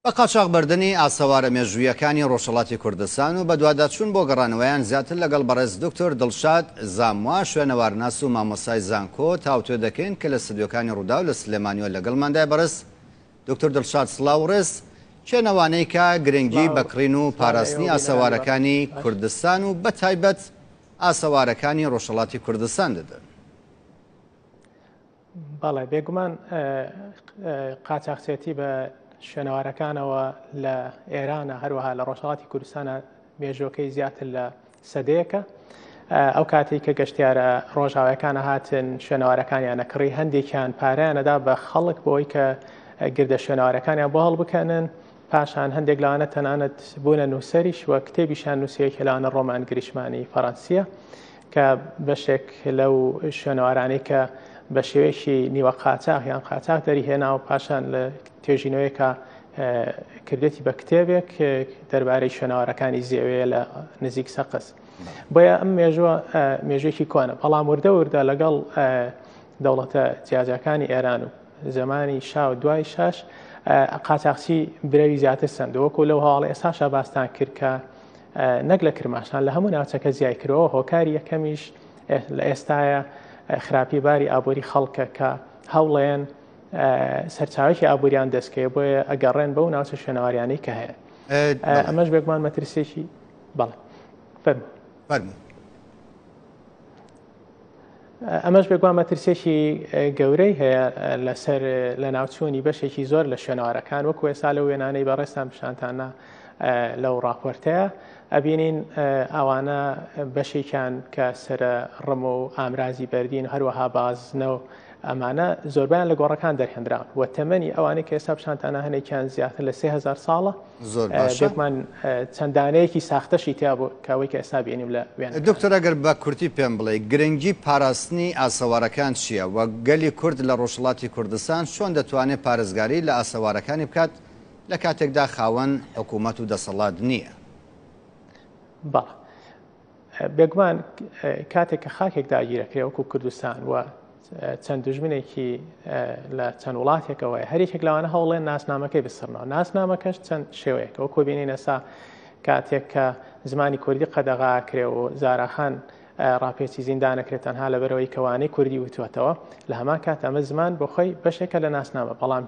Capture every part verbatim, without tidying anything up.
بە قاچاخبردنی ئاسەوارە مێژوویەکانی ڕۆژهەڵاتی کوردستان و بەدواداچوون بۆ گەڕانەوەیان زیاتر لەگەڵ بەڕێز دکتۆر دڵشاد زاموا، شوێنەوارناس و مامۆستای زانکۆ تاوتوێ دەکەین کە لە ستۆدیۆکانی ڕووداو لە سلێمانیوە لەگەڵماندای. بەڕێز دکتۆر دڵشاد سڵاو و ڕێز، چێنەوانەی کە گرنگی بە کڕین و پاراستنی ئاسەوارەکانی کوردستان و بەتایبەت ئاسەوارەکانی ڕۆژهەڵاتی کوردستان دەدەن؟ بەڵێ، بێگومان قاچاخچێتی بە شوێنەوارەکانەوە لە ئێرانە، هەروەها لە ڕۆژهەڵاتی کوردستانە مێژوەکەی زیاتر لە سەدەیەکە. ئەو کاتێک کە گەشتیارە ڕۆژاوایەکانە هاتن شوێنەوارەکانیانە کڕی، هەندێکیان پارەیانەدا بە خەڵک بۆی کە گردە شوێنەوارەکانیان بۆ هەڵبکەنن. پاشان هەندێک لەوانە تەنانەت بوونە نووسەریش و کتێبیشان نووسەیەکە لەوانە ڕۆمان گریشمانی فەڕەنسیە کە بەشێک لەو شوێنەوارانەی کە بە شێوەیەکی نیوە قاچاخ یان قاچاخ دەریهێنا و پاشان لە توێژینەوەیەکە کردێتی بە کتێبێک دەربارەی شوێنەوارەکانی زێوەیە لە نزیک سەقز. بۆیە ئەم مێژوە مێژوێکی کۆنە، بەڵام وردە وردە لەگەڵ دەوڵەتە جیاجیاکانی ئێران و زمانی شا و دوای شاش قاچاخچی برەوی زیاتر سەند. وەکو لەو هەواڵی ئێستاشا باستان کرد کە نەک لە کرماشان لە هەموو ناوچەکە زیای کردەوە. هۆکاری یەکەمیش لە ئێستاە خراپی باری ئابووری خەڵکە کە هەوڵێن سەرچاوێکی ئابووریان دەستکەوێت، بۆیە ئەگەڕێن بەو ناوچە شوێنەواریانەی کە هەیە. ئەمەش بێگومان مەترسیێکی بەڵێ فەرموو فەرموو ئەمەش بێگومان مەترسیێکی گەورەی هەیە لەسەر لە ناوچوونی بەشێکی زۆر لە شوێنەوارەکان. وەکو ئێستا لەو وێنانەی بەڕێزتان پیشانتانە لەو راپۆرتەیە ئەبینین ئەوانە بەشێکیان کە سەرە ڕم و ئامرازی بەردین و هەروەها بازنە و ئەمانە زۆربیان لە گۆڕەکان دەرهێنراون و تەمەنی ئەوانەی کە ئێستا پیشانتانە هەنێکیان زیاتر لە سێ هەزار ساڵە. زۆر باشە. بێگومان چەند دانەیەکی ساختەشی تیا بوو کە ئەوەی کە ئێستا بینیم لە وێنەکان. دکتۆر ئەگەر بە کورتی پێم بڵێ گرنگی پاراستنی ئاسەوارەکان چییە و گەلی کورد لە ڕۆژهەڵاتی کوردستان چۆن دەتوانێت پارێزگاری لە ئاسەوارەکانی بکات لە کاتێکدا خاوەن حکوومەت و دەسەڵات نییە؟ بەڵێ، بێگومان کاتێک کە خاکێک داگیرەکرێ وەکو کوردستان و چەند دوژمنێکی لە چەند وڵاتێکەوەی هەر یەکێک لەوانە هەوڵێن ناسنامەکەی بسڕنەوە. ناسنامەکەش چەند شێوەیەکە، وەکو بینین ئێستا کاتێک کە زمانی کوردی قەدەغاکرێ و زاراخان ڕاپێچی زیندانەکرێت تەنها لەبەرەوەی کەوانەی کوردی وتوەتەوە، لە هەمان کات ئەمە زمان بۆ خۆی بەشێکە لە ناسنامە، بەڵام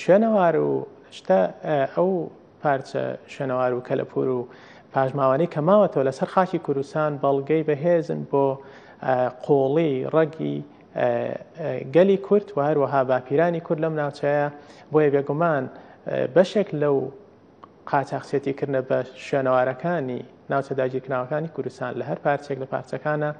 شوێنەوار و شتە ئەو پارچە شوێنەوار و کەلەپور و پاشماوانەی کە ماوەتەوە لەسەر خاکی کوردستان بەڵگەی بەهێزن بۆ قۆڵی ڕەگی گەلی کورد و هەروەها باپیرانی کورد لەم ناوچەیە. بۆیە بێگومان بەشێک لەو قاچاخچێتیکردنە بە شوێنەوارەکانی ناوچە داگیرکراوەکانی کوردستان لە هەر پارچێک لە پارچەکانە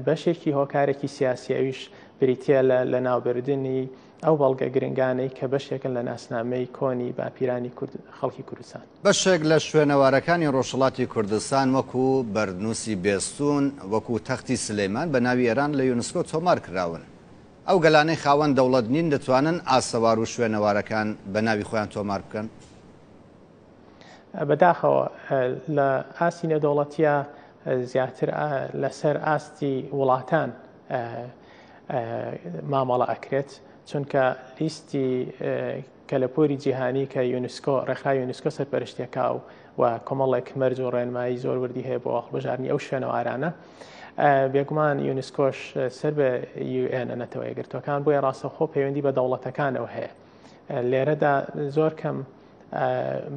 بەشێکی هۆکارێکی سیاسی ئەویش بریتیە لە لەناوبردنی ئەو بەڵگە گرنگانەی کە بەشێکن لە ناسنامەی کۆنی باپیرانی خەڵکی کوردستان. بەشێک لە شوێنەوارەکانی ڕۆژهەڵاتی کوردستان وەکو بەردنووسی بێستون، وەکو تەختی سلەیمان بە ناوی ئێران لە یونسکۆ تۆمار کراون. ئەو گەلانەی خاوەن دەوڵەت نین دەتوانن ئاسەوار و شوێنەوارەکان بە ناوی خۆیان تۆمار بکەن؟ بەداخەوە لە ئاستی نێودەوڵەتیە زیاتر لەسەر ئاستی وڵاتان مامەڵە ئەکرێت، چونکە لیستی کەلەپوری جیهانی کە یونسکۆ ڕێکخراوی یونسکۆ سەرپەرشتیەکە و و کۆمەڵێک مەرج و ڕێنمایی زۆر وردی هەیە بۆ هەڵبژاردنی ئەو شوێنەوارانە. بێگومان یونسکۆش سەر بە یو ئێن نەتەوە یەکگرتووەکان، بۆیە ڕاستەوخۆ پەیوەندی بە دەوڵەتەکانەوە هەیە. لێرەدا زۆر کەم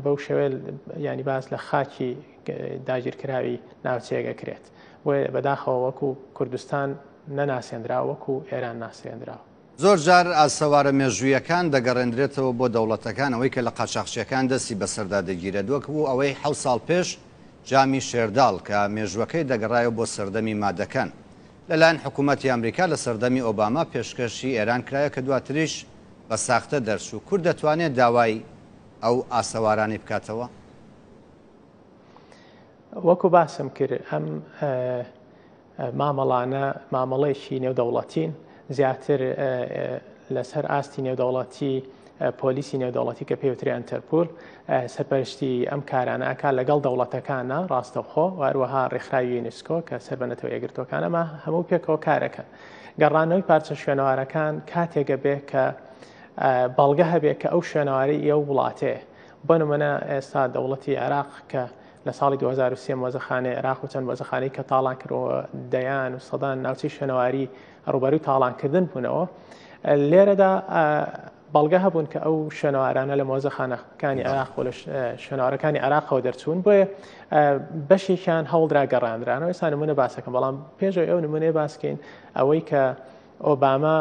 بەو شێوەیە ینی باس لە خاکی داگیرکراوی ناوچەیەکە کرێت، بۆیە بەداخەوە وەکو کوردستان نەناسێنراوە، وەکو ئێران ناسێنراوە. زۆر جار ئاسەوارە مێژوویەکان دەگەڕێندرێتەوە بۆ دەوڵەتەکان، ئەوەی کە لە قاچاخچیەکان دەستی بەسەردا دەگیرێت، وەکو ئەوەی حەوت ساڵ پێش جامی شێرداڵ کە مێژوەکەی دەگەڕایەوە بۆ سەردەمی مادەکان لەلایەن حکوومەتی ئەمریکا لە سەردەمی ئۆباما پێشکەشی ئێران کرایە کە دواتریش بە ساختە دەرچوو. کورد دەتوانێت داوای ئەو ئاسەوارانەی بکاتەوە؟ وەکو باسم کرد ئەم مامەڵانە مامەڵەیەکی نێودەوڵەتین، زیاتر لەسەر ئاستی نێودەوڵەتی پۆلیسی نێودەوڵەتی کە پێوترێ ئەنتەرپول سەرپەرشتی ئەم کارانە ئەکا لەگەڵ دەوڵەتەکانە ڕاستەوخۆ و هەروەها ڕێکخراوی یونسکۆ کە سەر بە نەتەوە یەکگرتووەکانەمە هەموو پێکەوە کارەکەن. گەڕانەوەی پارچە شوێنەوارەکان کاتێکە بێ کە بەڵگە هەبێت کە ئەو شوێنەوارەی ئەو وڵاتەیە. بۆ نمونە ئێستا دەوڵەتی عێراق کە لە ساڵی دوو هەزار و سێ مۆزەخانەی عێراق و چەند مۆزەخانەی کە تاڵان کردەوە، دەیان و سەدان ناوچەی شوێنەواری ڕووبەرووی تاڵانکردن بوونەوە، لێرەدا بەڵگە هەبوون کە ئەو شوێنەوارانە لە مۆزەخانەکانی عێراق و لە شوێنەوارەکانی عێراقەوە دەرچوون، بۆیە بەشێکیان هەوڵدرا گەڕاندرانەوە. ئێستا نمونە باسەکەم، بەڵام پێشەوەی ئەو نمونەیە باسکەین ئەوەی کە ئۆباما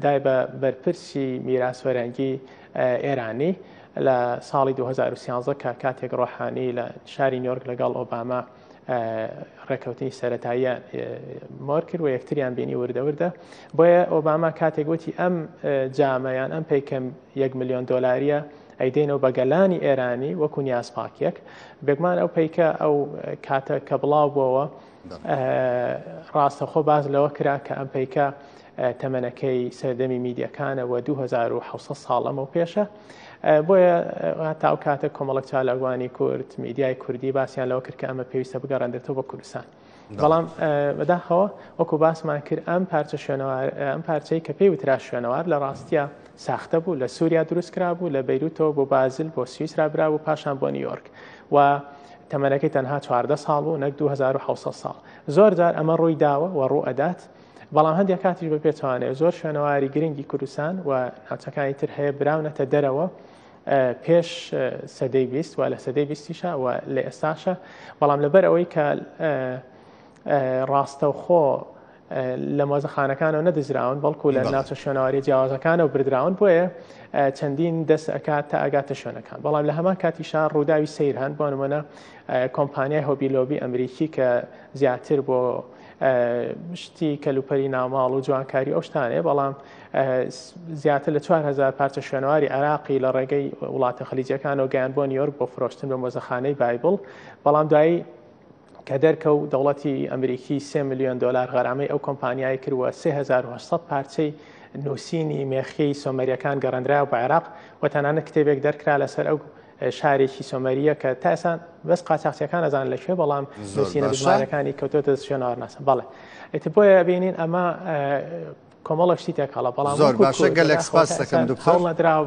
دای بە بەرپرسی میراث فەرهەنگی ئێرانی لە ساڵی دوو هەزار و سیانزە کە کاتێک ڕۆحانی لە شاری نیویۆرک لەگەڵ ئۆباما ڕێککەوتنی سەتاییان مۆر کرد و یەکتریان بینی وردە وردە. بۆیە ئۆباما کاتێک وتی ئەم جامەیان ئەم پەیکەم یەک ملیۆن دۆلاریە ئەیدەینەوە بە گەلانی ئێرانی وەکو نیازپاکیەک، بێگومان ئەو پەیکە ئەو کاتە کە بڵاو بووەوە ڕاستەخۆ باز لەوە کرا کە ئەم پەیکە تەمەنەکەی سەردەمی میدیەکانەوە دوو هەزار و حەوت سەد ساڵ ئەمە پێشە. بۆیە تا ئەو کاتە کۆمەڵک چالاکوانی کورد، میدیای کوردی باسییان لەوە کرد کە ئەمە پێویستە بگەڕێندرێتەوە بە کوردستان. بەڵام بەداخەوە وەکو باسمان کرد ئەم پارچە شوێنەوار، ئەم پارچەی کە پێی وترا شوێنەوار لە ڕاستیە ساختە بوو، لە سووریا دروست کرا بوو، لە بەیروتەوە بۆ بازل بۆ سویسرا برا بوو، پاشان بۆ نیویۆرک و تەمەنەکەی تەنها چواردە ساڵ بوو نەک دوو هەزار و حەوت سەد ساڵ. زۆر جار ئەمە ڕووی داوە و ڕوو ئەدات، بەڵام هەندێک کاتیش بە پێچوانەیە زۆر شوێنەواری گرنگی کوردستان و ناوچەکانی تر هەیە براونەتە دەرەوە پێش سەدەی بیست و لە سەدەی بیستیشە و لە ئێستاشە، بەڵام لەبەر ئەوەی کە ڕاستەوخۆ لە مۆزەخانەکانەوە نەدزراون بەڵکو لە ناوچە شوێنەواری جیاوازەکانەوە بردراون، بۆیە چەندین دەست ئەکات تا ئەگاتە شوێنەکان. بەڵام لە هەمان کاتیشا ڕووداوی سەیر هەن، بۆ نمونە کۆمپانیای هۆبی لۆبی ئەمریکی کە زیاتر بۆ شتی کەلوپەری ناوماڵ و جوانکاری ئەو شتانەیە، بەڵام زیاتر لە چوار هەزار پارچە شوێنەواری عێراقی لە ڕێگەی وڵاتە خەلیجیەکانەوە گەیان بۆ نیویۆرک بۆ فرۆشتن بە مۆزەخانەی بایبڵ. بەڵام دوایی کە دەرکەوت دەوڵەتی ئەمریکی سێ ملیۆن دلار غەرامەی ئەو کۆمپانیای کردووە، سێ هەزار و هەشت سەد پارچەی نووسینی مێخی سۆمەریەکان گەڕێندرایەوە بە عێراق و تەنانەت کتێبێک دەرکرا لەسەر ئەو شارێکی سۆمەریە کە تا ئێستا بەس قاچاقچیەکان ئەزانن لەکوێ، بەڵام نووسینە بزمارەکانی کەوتۆتە شوێنەوارناسە. بەڵێ ئیتر بۆیە بینین ئەمە کۆمەڵێک شتی تێکەڵە. بەڵام زۆر باشە، گەلێک سپاس دەکەم دکتۆر. هەوڵ نەدراو.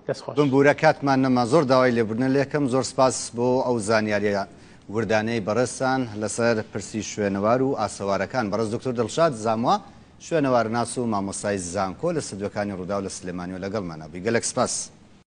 دەستخۆش. بمبوورە کاتمان نەما، زۆر داوای لێبوردنە لێکەم. زۆر سپاس بۆ ئەو زانیاریە وردانەی بەڕێزتان لەسەر پرسی شوێنەوار و ئاسەوارەکان. بەڕێز دکتۆر دڵشاد زاموا، شوێنەوارناس و مامۆستای زانکۆ لە ستۆدیۆکانی ڕووداو لە سلێمانیەوە لەگەڵمانە بووی. گەلێک سپاس.